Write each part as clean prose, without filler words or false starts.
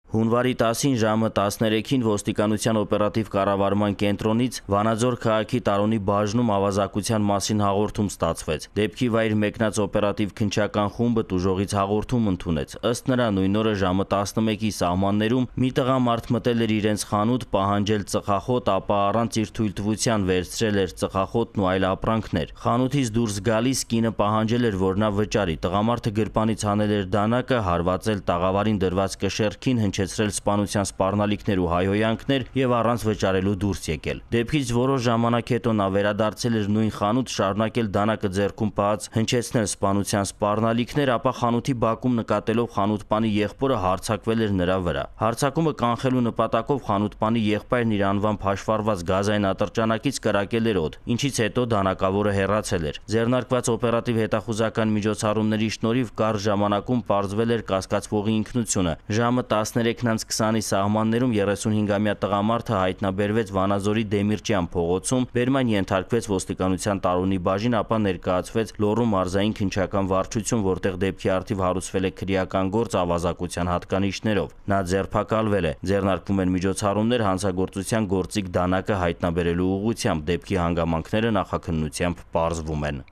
Հունվարի 10-ին ժամը 13-ին ոստիկանության օպերատիվ կառավարման կենտրոնից Վանաձոր քաղաքի Տարոնի բաժնում ավազակության մասին հաղորդում ստացվեց։ Դեպքի վայր մեկնած օպերատիվ քննչական խումբը տուժողից հաղորդում ընդունեց։ Ըստ նրա, նույն օրը ժամը 11-ի սահմաններում մի տղամարդ մտել էր իրենց խանութ պահանջել ծխախոտ, ապա առանց իր թույլտվության վերցրել էր ծխախոտն ու այլ ապրանքներ։ Խանութից դուրս գալիս կինը պահանջել էր, որ նա վճարի։ Տղամարդը գրպանից հանել էր դանակը, հարվածել տաղավարին դրված կշեռքին, հնչեցրել սպանության սպառնալիքներ ու հայհոյանքներ եւ առանց վճարելու դուրս եկել։ Դեպքից որոշ ժամանակ հետո նա վերադարձել էր նույն խանութ, շարունակել դանակը ձեռքում պահած հնչեցնել սպանության սպառնալիքներ, ապա խանութի բակում նկատելով խանութպանի եղբորը հարձակվել էր նրա վրա։ Հարձակումը կանխելու նպատակով խանութպանի եղբայրն իր անվամբ հաշվառված գազային ատրճանակից կրակել էր օդ, ինչից հետո դանակավորը հեռացել էր։ Ձեռնարկված օպերատիվ հետախուզական միջոցառումների շնորհիվ կարճ ժամանակում պարզվել էր կասկածվողի ինքնությունը։ Ժամը 13:20-ի սահմաններում 35-ամյա տղամարդը հայտնաբերվեց Վանաձորի Դեմիրճյան փողոցում, բերման ենթարկվեց ոստիկանության Տարոնի բաժին, ապա ներկայացվեց Լոռու մարզային քննչական վարչություն, որտեղ դեպքի առթիվ հարուցվել է քրեական գործ ավազակության հատկանիշներով։ Նա ձերբակալվել է։ Ձեռնարկվում են միջոցառումներ հանցագործության գործիք դանակը հայտնաբերելու ուղղությամբ։ Դեպքի հանգամանքները նախաքննությամբ պարզվում են։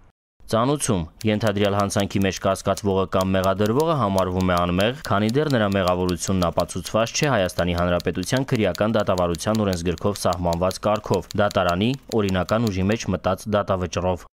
Ծանուցում ենթադրյալ հանցանքի մեջ կասկածվողը կամ մեղադրվողը համարվում է անմեղ, քանի դեռ նրա մեղավորությունն ապացուցված չէ Հայաստանի Հանրապետության քրեական դատավարության օրենսգրքով սահմանված կարգով՝ դատարանի օրինական ուժի մեջ մտած դատավճռով։